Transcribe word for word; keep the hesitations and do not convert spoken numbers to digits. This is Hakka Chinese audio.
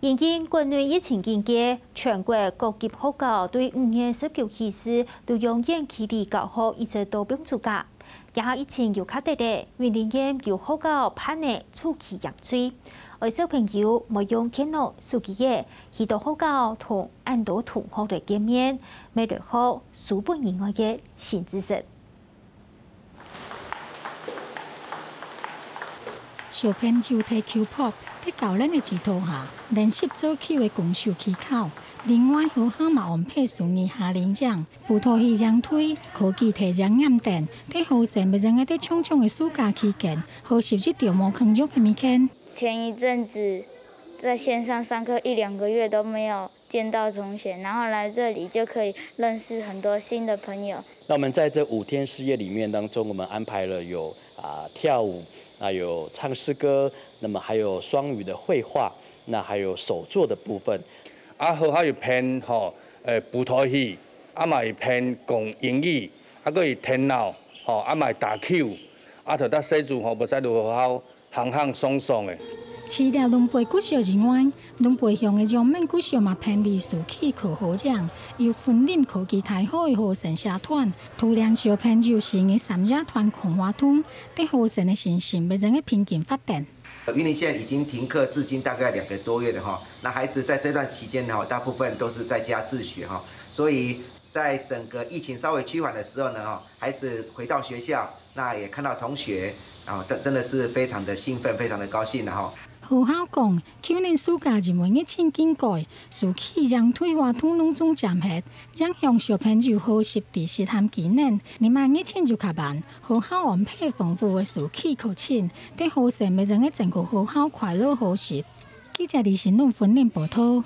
因應國內疫情警戒，全國各級學校對五月十九起始都用遠距離教學，一直到放暑假。這下疫情又較得咧，雲林縣有學校辦理暑期營隊，愛小朋友莫用電腦、手機仔，去到學校同恁多同學來見面，乜來學書本以外个新知識。 小朋友在球拍、在教練个指導下，練習做球个攻守技巧。另外，學校嘛安排手藝夏令營、葡萄戲營隊、科技體驗營等，在學生乜正愛在長長个暑假期間，學習一條無共樣个物件。前一陣子在線上上課一兩個月都沒有見到同學，然後來這裡就可以認識很多新的朋友。那我們在這五天四夜裡面當中，我們安排了有啊、跳舞，那有唱詩歌，那麼還有雙語的繪畫，那還有手作的部分。啊，學校有編吼，呃，布袋戲，啊嘛有編講英語，啊，閣有電腦，吼，啊嘛有打球，啊，就搭細子吼，無使落學校 行行爽爽个。除了崙背國小以外，崙背鄉个陽明國小嘛辦理暑期科學營，由雲林科技大學个學生社團，帶領小朋友四日三夜團康活動，對學生个身心乜正个平均發展。雲林縣已經停課至今大概兩個多月了哈，那孩子在這段期間呢，大部分都是在家自學哈，所以在整個疫情稍微趨緩的時候呢，哈，孩子回到學校，那也看到同學，啊，真，真的是非常的興奮，非常的高興了哈。學校講，舊年暑假因為疫情警戒，暑期營隊活動攏總暫歇，影響小朋友學習知識和技能。這馬疫情又較慢，學校安排豐富个暑期課程，對學生乜正个整個學校快樂學習。記者李新龍雲林報導。